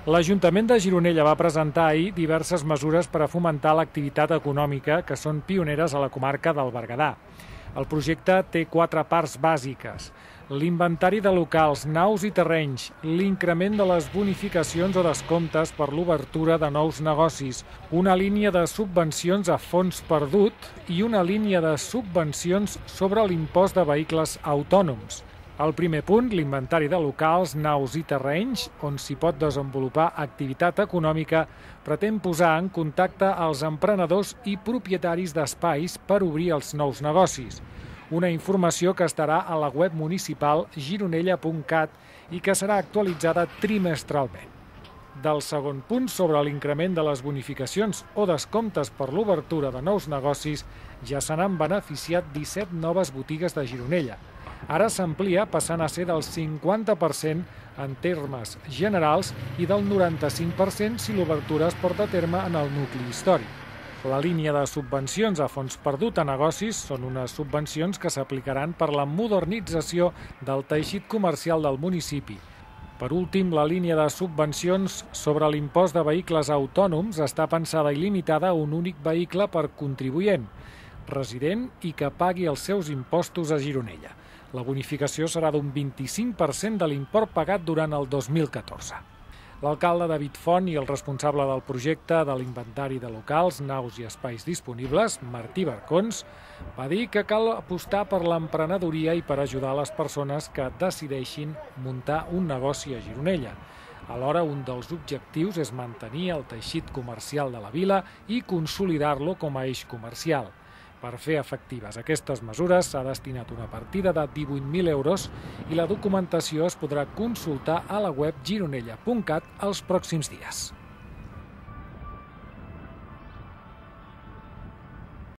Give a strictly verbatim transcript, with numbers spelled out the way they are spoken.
L'Ajuntament de Gironella va presentar ahir diverses mesures per a fomentar l'activitat econòmica que són pioneres a la comarca del Berguedà. El projecte té quatre parts bàsiques: l'inventari de locals, naus i terrenys, l'increment de les bonificacions o descomptes per l'obertura de nous negocis, una línia de subvencions a fons perdut i una línia de subvencions sobre l'impost de vehicles autònoms. El primer punt, l'inventari de locals, naus i terrenys, on s'hi pot desenvolupar activitat econòmica, pretén posar en contacte els emprenedors i propietaris d'espais per obrir els nous negocis. Una informació que estarà a la web municipal gironella punt cat i que serà actualitzada trimestralment. Del segon punt, sobre l'increment de les bonificacions o descomptes per l'obertura de nous negocis, ja se n'han beneficiat disset noves botigues de Gironella. Ara s'amplia passant a ser del cinquanta per cent en termes generals i del noranta-cinc per cent si l'obertura es porta a terme en el nucli històric. La línia de subvencions a fons perdut a negocis són unes subvencions que s'aplicaran per la modernització del teixit comercial del municipi. Per últim, la línia de subvencions sobre l'impost de vehicles autònoms està pensada i limitada a un únic vehicle per contribuent, resident i que pagui els seus impostos a Gironella. La bonificació serà d'un vint-i-cinc per cent de l'import pagat durant el dos mil catorze. L'alcalde David Font i el responsable del projecte de l'inventari de locals, naus i espais disponibles, Martí Barcons, va dir que cal apostar per l'emprenedoria i per ajudar les persones que decideixin muntar un negoci a Gironella. Alhora, un dels objectius és mantenir el teixit comercial de la vila i consolidar-lo com a eix comercial. Per fer efectives aquestes mesures s'ha destinat una partida de divuit mil euros i la documentació es podrà consultar a la web gironella punt cat els pròxims dies.